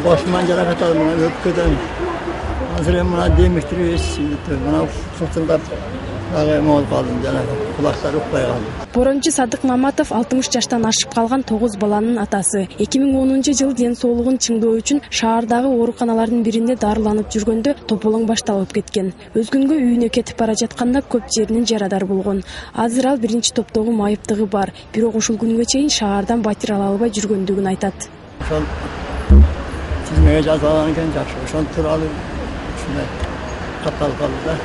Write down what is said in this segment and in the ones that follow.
başıma jaraqat aldım, öpkeden. Hazır buna demiştir, buna fırtında mol kaldım, kulakları ukpay kaldım. Борончу Садык Маматов 60 жаштан ашып калган 9 баланын атасы. 2010-жылы ден соолугун чыңдоо үчүн шаардагы ооруканалардын биринде дарыланып жүргөндө тополоң башталып кеткен. Өзгөнгө үйүнө кетип бара жатканда көп жеринен жарадар болгон. Азыр ал биринчи топтогу майыптыгы бар, бирок ушул күнгө чейин шаардан батир ала албай жүргөндүгүн айтат. Ошол тизмеге жазалган экен жакшы. Ошон тууралуу ушундай катталып калды да.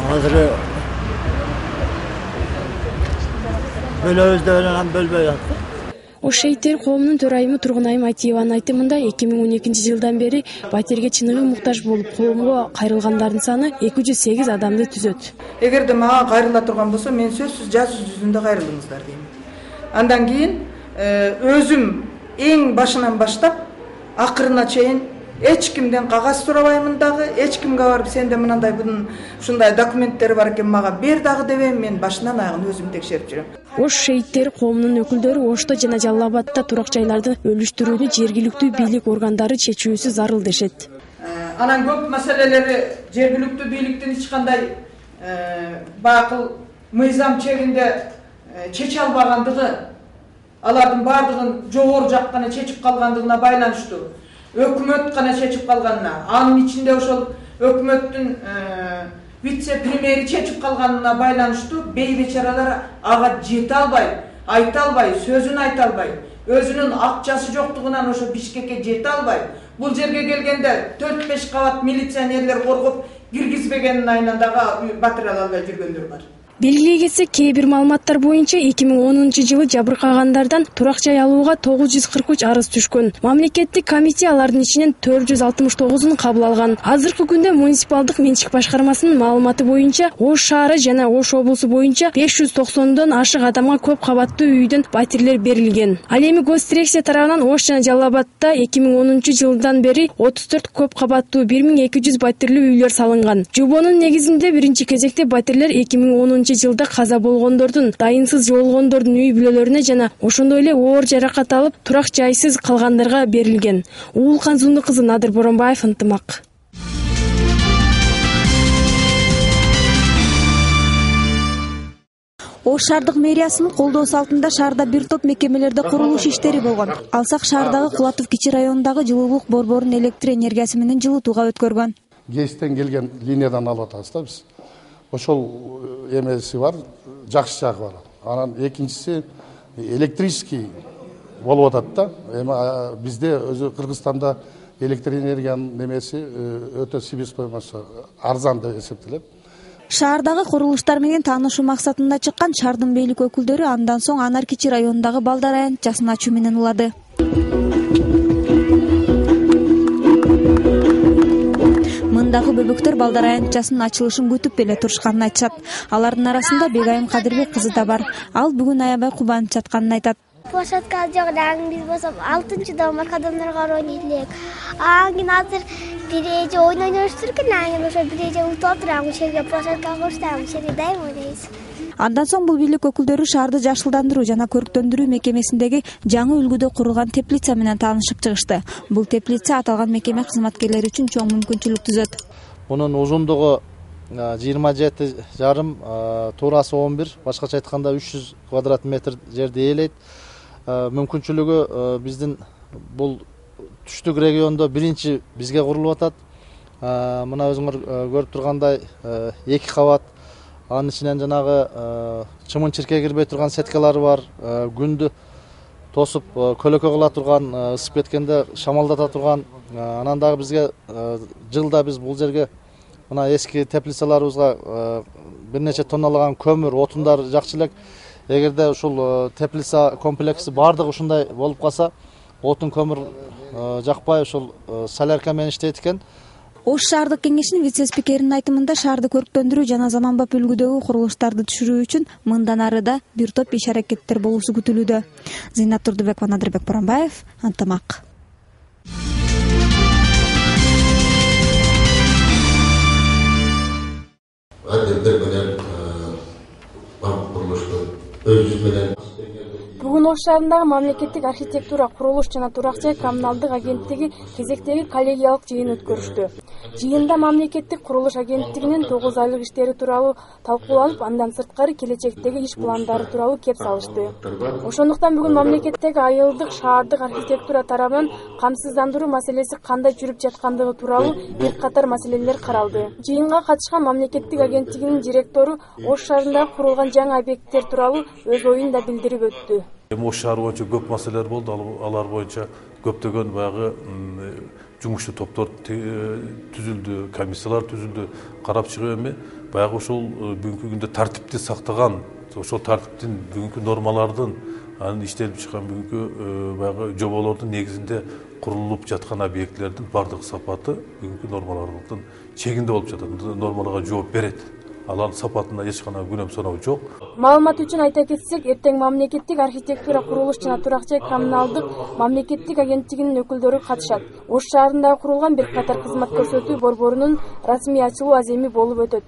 Hazır böyle özdeğilen bölbe yaptı. Ош шейиттер коомунун төрайымы Тургунайым Айтиеванын айтымында 2012-жылдан бери батирге чыныгы муктаж болуп коомго кайрылгандардын саны 208 адамды түзөт. Эгерде мага кайрыла турган болсо, мен сөзсүз жаз жүзүндө кайрылыңыздар дейм. Андан кийин өзүм эң башынан баштап акырына чейин эч кимден кагаз сурабаймын дагы, эч кимге барып сенде мындай bunun ушундай документтери бар экен мага бер дагы дебейм, мен башынан аягын өзүм текшерип жүрөм. Ош шейиттери коомунун өкүлдөрү Ошто жана Жалал Абадта турак жайларды өлүштүрүүнү жергиликтүү бийлик органдары чечүүсү зарыл дешет. Анан көп маселелери жергиликтүү бийликтин эч кандай бакыл мыйзам чегинде чече албагандыгы, алардын бардыгын жогору жак гана чечип калгандыгына байланыштуу. Өкмөт гана чечип калганына, анын ичинде ошол өкмөттүн вице-премьери чечип калганына байланыштуу бейбечаралар ага жете албай, айта албай, сөзүн айта албай, өзүнүн акчасы жоктугунан ошо Бишкекке жете албай, бул жерге келгенде 4-5 кабат милиционерлер коргоп киргизбегенин айынан дагы батыр ала албай жүргөндөр бар. Белгилей кетсек, кээ бир маалыматтар боюнча 2010-жылы жабыркагандардан турак жай алууга 943 арыз түшкөн. Мамлекеттик комиссия алардын ичинен 469-ун кабыл алган. Азыркы күндө муниципалдык менчик башкармасынын маалыматы боюнча Ош шаары жана Ош облусу боюнча 590дон ашык адамга көп кабаттуу үйдөн батирлер берилген. Ал эми госдирекция тарабынан Ош жана Жалал Абадта 2010-жылдан бери 34 көп кабаттуу 1200 батирлүү үйлөр салынган. Жобонун негизинде биринчи кезекте батирлер 2010-жылда каза болгондордун, дайынсыз жоолгондордун үй бүлөлөрүнө жана ошондой эле оор жаракат алып турак жайсыз калгандарга берилген. Уулкан Зунду кызы Надыр Боронбаев, ынтымак. Ош шаардык мэриясынын колдоосу алтында шаарда бир топ мекемелерде курулуш иштери болгон. Алсак шаардагы Кулатов кичи районундагы жылуулук борборун электр энергиясы менен жылытууга өткөргөн. ГЭСтен келген линиядан алып атабыз да биз. Ошол эмеси бар, жакшы жагы бар. Анан экинчиси электрический болуп атат да. Эми бизде өзү Кыргызстанда электр энергиянын немеси өтө себестоимосту арзан деп эсептелет. Шаардагы курулуштар менен таанышуу максатында чыккан шаардын бийлик өкүлдөрү андан соң Анар кичи районундагы балдар аянтчасын ачуу менен улады. Мындагы бөбөктөр балдар аянтчасынын ачылышын күтүп эле турушканын айтышат. Алардын арасында Бегайым Кадырбек кызы да бар. Ал бүгүн аябай кубанып жатканын айтат. Площадка жок, дагы биз болсо 6-дон маркадонорго ойнойт элек. Анан азыр бир эже ойноштур экен, анан ошо бир эже утуп турам, ошол жерге площадка курсам, ошол жерде дайым ойнойбуз. Андан соң бул бийлик өкүлдөрү шаарды жашылдандыруу жана көрктөндүрүү мекемесиндеги жаңы үлгүдө курулган теплица менен таанышып чыгышты. Бул теплица аталган мекеме кызматкерлери үчүн чоң мүмкүнчүлүк түзөт. Мунун узундугу 27 туурасы 11, башкача айтканда 300 квадрат метр жерди ээлейт. Мүмкүнчүлүгү биздин бул түштүк региондо биринчи бизге курулуп атат. Мына өзүңөр көрүп тургандай 2 кабат. Анын ичинен жанагы чымын-чирке кирбей турган сеткалары бар. Күндү тосуп көлөкө кыла турган, ысып кеткенде шамалдата турган. Анан дагы бизге жылда биз бул жерге мына эски теплицаларыбызга бир нече тонналаган көмүр, отундар жакчы элек. Эгерде ушул теплица комплекси бардыгы ушундай болуп калса, отун көмүр жакпай ушул солярка менен иштейт экен. Ош шаардык кеңешинин вице-спикеринин айтымында шаарды көрктөндүрүү жана заманбап үлгүдөгү курулуштарды түшүрүү үчүн мындан арыда бир топ иш-аракеттер болуусу күтүлүүдө. Зейнат Турдубекова, Надырбек Боронбаев, ынтымак. Бүгүн Мурун Ош шаарындагы мамлекеттик архитектура, курулуш жана турак жай коммуналдык агенттиги кезектеги коллегиялык жыйын өткөрүштү. Жыйында мамлекеттик курулуш агенттигинин 9 айлык иштери тууралуу талкууланып, андан сырткары келечектеги иш пландары тууралуу кеп салышты. Ошондуктан бүгүн мамлекеттеги айылдык, шаардык архитектура тарабынан камсыздандыруу маселеси кандай жүрүп жаткандыгы тууралуу бир катар маселелер каралды. Жыйынга катышкан мамлекеттик агенттигинин директору Ош шаарында курулган жаңы объекттер тууралуу өз оюн да билдирип өттү. Ош шаары боюнча көп маселелер болду. Алар боюнча көптөгөн баягы жумушчу топтор түзүлдү, комиссиялар түзүлдү. Карап чыгып эми баягы ошол бүгүнкү күндө тартипти сактаган, ошол тартиптин бүгүнкү нормалардын анын иштелип чыккан бүгүнкү баягы жоболордун негизинде курулуп жаткан объектлердин бардык сапаты бүгүнкү нормалардын чегинде болуп жатат. Нормаларга жооп берет. Алардын сапатында эч кандай күнөм саноо жок. Маалымат үчүн айта кетсек, эртең мамлекеттик архитектура, курулуш жана турак жай коммуналдык мамлекеттик агенттигинин өкүлдөрү катышат. Ош шаарында курулган бир катар кызмат көрсөтүү борборунун расмий ачылуу аземи болуп өтөт.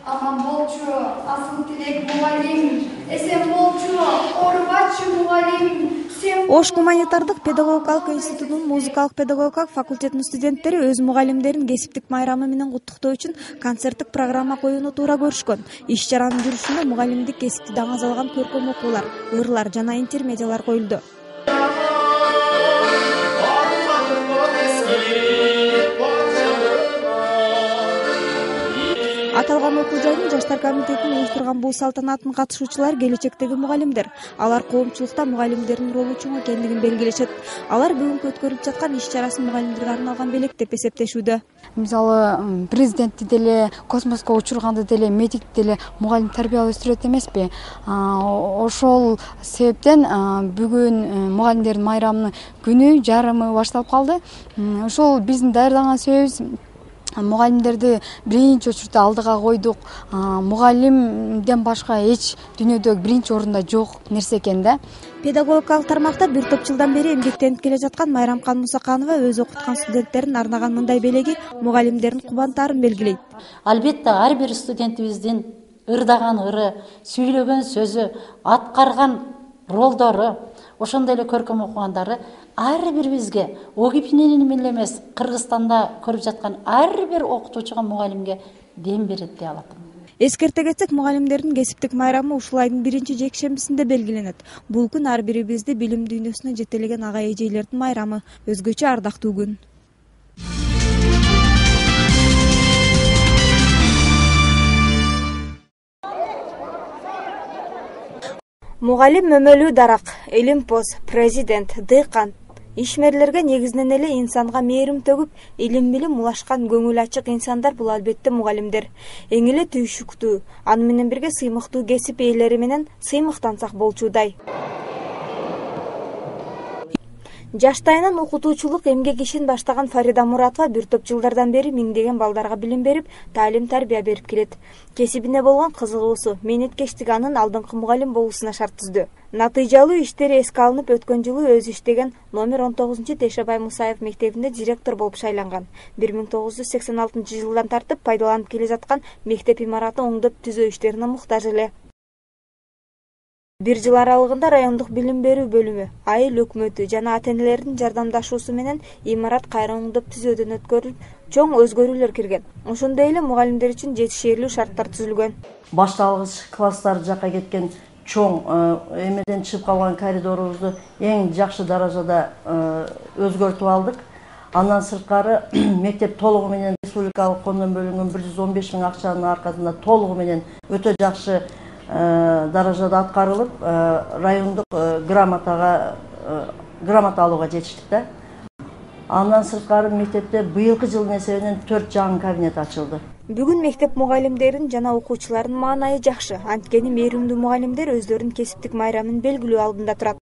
Аман болчу, асыл тилек мугалим, эсен болчу, оорубачы мугалим. Ош гуманитардык педагогикалык институтунун музыкалык педагогика факультетинин студенттери өз мугалимдерин кесиптик майрамы менен куттуктоо үчүн концерттик программа коюуну туура көрүшкөн. Иш чаранын жүрүшүндө мугалимдик кесипти даңазалган көркөм окуулар, ырлар жана интермедиалар коюлду. Аталган окуу жайдын жаштар комитетинин уюштурган бул салтанаттын катышуучулары келечектеги мугалимдер. Алар коомчулукта мугалимдердин ролу чоң экендигин белгилешет. Алар бүгүнкү өткөрүлүп жаткан иш чарасын мугалимдерге арналган белек деп эсептешүүдө. Мисалы, президентти деле, космоско учурганды деле, медикти деле мугалим тарбиялап өстүрөт эмеспи? Ошол себептен бүгүн мугалимдердин майрамынын күнү жарымы башталып калды. Ошол биздин даярдаган себебибиз мугалимдерди биринчи учурда алдыга койдук. Мугалимден башка эч дүйнөдө биринчи орунда жок нерсе экен да. Педагогикалык тармакта бир топ жылдан бери эмгектенип келе жаткан Майрамкан Мусаканова өз окуткан студенттерин арнаган мындай белеги мугалимдердин кубантаарын белгилейт. Албетте ар бир студентибиздин ырдаган ыры, сүйлөгөн сөзү, аткарган ролдору, ошондой эле көркөм окугандары ар бирибизге ОГИПнен эле эмес, Кыргызстанда көрүп жаткан ар бир окутуучуга, мугалимге дем берет деп алат. Эскерте кетсек, мугалимдердин кесиптик майрамы ушул айдын 1-жекшембисинде белгиленет. Бул күн ар бирибизди билим дүйнөсүнө жетелеген ага эжейлердин майрамы, өзгөчө ардактуу күн. Мугалим өмөлүү дарак, илимпоз, президент, дыйкан, ишмерлерге негизинен эле инсанга мээрим төгүп, илим-билим улашкан көңүл ачык инсандар бул албетте мугалимдер. Эң эле түйшүктүү, аны менен бирге сыймыктуу кесип ээлери менен сыймыктансак болчудай. Жаштайынан окутуучулук эмгек ишин баштаган Фарида Муратова бир топ жылдардан бери миңдеген балдарга билим берип, таалим-тарбия берип келет. Кесибине болгон кызыгуусу, мээнеткечтиги анын алдыңкы мугалим болуусуна шарт түздү. Натыйжалуу иштери эске алынып, өткөн жылы өзү иштеген номер 19 Тешебай Мусаев мектебинде директор болуп шайланган. 1986 жылдан тартып пайдаланып келе жаткан мектеп имараты оңдоп түзөө иштерине муктаж эле. Бир жыл аралыгында райондук билим берүү бөлүмү, айыл өкмөтү жана ата-энелердин жардамдашуусу менен имарат кайра оңдоп түзөөдөн өткөрүлүп, чоң өзгөрүүлөр кирген. Ошондой эле мугалимдер үчүн жетишээрлүү шарттар түзүлгөн. Башталгыч класстар жакка кеткен чоң эмеден чыгып калган коридорубузду эң жакшы даражада өзгөртүп алдык. Андан сырткары мектеп толугу менен республикалык коомдон бөлүнгөн 115 000 акчанын аркасында толугу менен өтө жакшы даражада аткарылып, райондук грамота алууга жетиштик да. Андан сырткары мектепте быйылкы жылдын эсебинен 4 жаңы кабинет ачылды. Бүгүн мектеп мугалимдерин жана окуучулардын маанайы жакшы. Анткени мээримдүү мугалимдер өздөрүнүн кесиптик майрамын белгилөө алдында турат.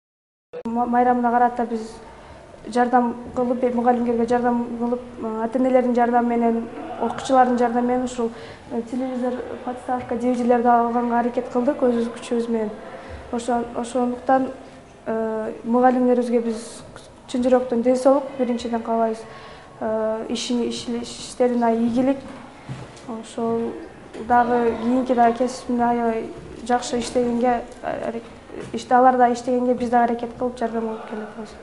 Майрамына карата биз жардам кылып, мугалимдерге жардам кылып, ата-энелердин жардамы менен, окуучулардын жардамы менен ушул телевизор, подставка, DVD-лерди алганга аракет кылдык өзүбүз күчүбүз менен. Ошондуктан мугалимдерибизге биз чын жүрөктөн ден соолук биринчиден каалайбыз. Иштерине ийгилик, ошол дагы кийинки дагы кесипимде аябай жакшы иштегенге, алар да иштегенге биз дагы аракет кылып жардам кылып келатабыз.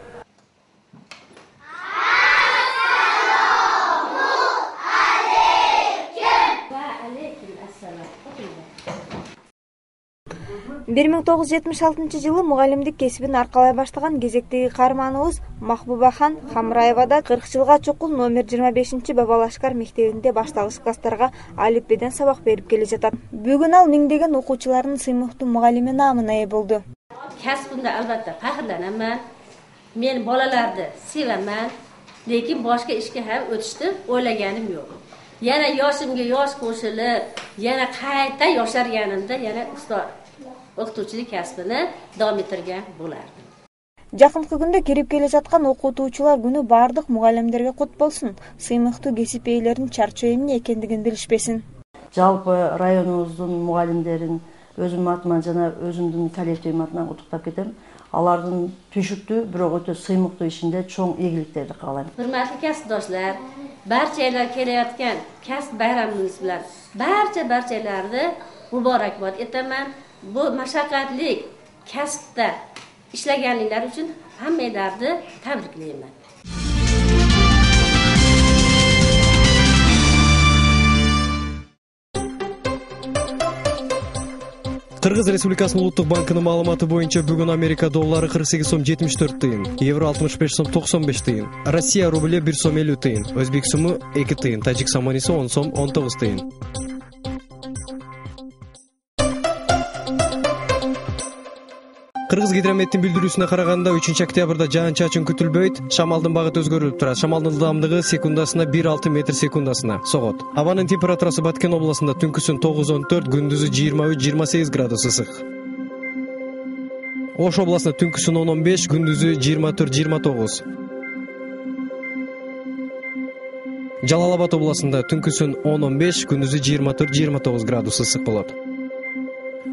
бир миң 1976-жылы мугалимдик кесибин аркалай баштаган кезектеги каарманыбыз Махбубахан Хамраева да 40 жылга чукул номер 25 Бабалашкар мектебинде башталгыч класстарга алифбеден сабак берип келе жатат. Бүгүн ал миңдеген окуучулардын сыймыктуу мугалими наамына ээ болду. Касбымда албатта фахрланаман. Men bolalarni sevaman, lekin boshqa ishga ham o'tishni o'ylaganim yo'q. Yana yoshimga yosh qo'shilib, yana qayta yosharganimda yana ustoz o'qituvchilik kasbini davom ettirgan bo'lardim. Жакынкы күндө кирип келе жаткан окутуучулар күнү баардык мугалимдерге кут болсун. Сыймыктуу кесип ээлеринин чарчоо эмне экендигин билишпесин. Жалпы районубуздун мугалимдерин өзүм атыман жана өзүмдүн коллективим атынан куттуктап кетем. Алардын түшүктүү, бирок өтө сыймыктуу ишинде чоң ийгиликтерди каалайм. Hurmatli kasbdoshlar, barchalar kelayotgan kasb bayramingiz bilan barchalarni muborakbod etaman. Bu mashaqqatli kasbda ishlaganliklar uchun hammalarni tabriklayman. Кыргыз Республикасынын Улуттук банкынын маалыматы боюнча бүгүн Америка доллары 48 сом 74 тыйын, евро 65 сом 95 тыйын, Россия рубле 1 сом 50 тыйын, Өзбек суму 2 тыйын, Тажик саманиси 10 сом 19 тыйын. Кыргыз гидрометтин билдирүүсүнө караганда 3-октябрда жаан-чачын күтүлбөйт, шамалдын багыты өзгөрүлүп турат. Шамалдын ылдамдыгы секундасына 1,6 метр секундасына согот. Абанын температурасы Баткен областында түнкүсүн 9-14, күндүзү 23-28 градус ысык. Ош областында түнкүсүн 10-15, күндүзү 24-29. Жалал Абад областында түнкүсүн 10-15, күндүзү 24-29 градус ысык болот.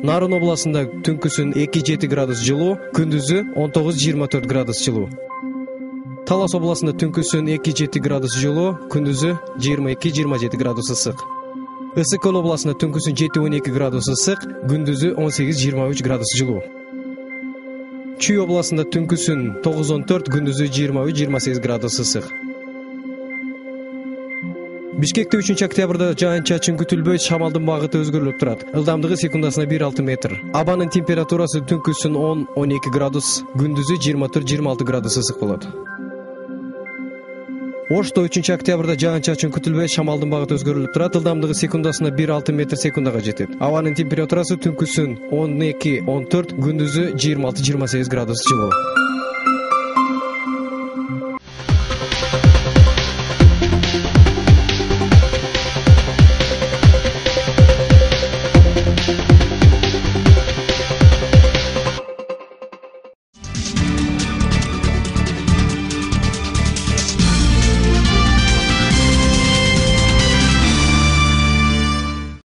Нарын областында түнкүсүн 2-7 градус жылуу, күндүзү 19-24 градус жылуу. Талас областында түнкүсүн 2-7 градус жылуу, күндүзү 22-27 градус ысык. Ысык-Көл областында түнкүсүн 7-12 градус ысык, күндүзү 18-23 градус жылуу. Чүй областында түнкүсүн 9-14, күндүзү 23-28 градус ысык. Бишкекте 3-октябрда жаан-чачын күтүлбөйт, шамалдын багыты өзгөрүлүп турат. Ылдамдыгы секундасына 1,6 метр. Абанын температурасы түнкүсүн 10-12 градус, күндүзү 24-26 градус ысык болот. Ошто 3-октябрда жаан-чачын күтүлбөйт, шамалдын багыты өзгөрүлүп турат. Ылдамдыгы секундасына 1,6 метр секундага жетет. Абанын температурасы түнкүсүн 12-14, күндүзү 26-28 градус жылуу.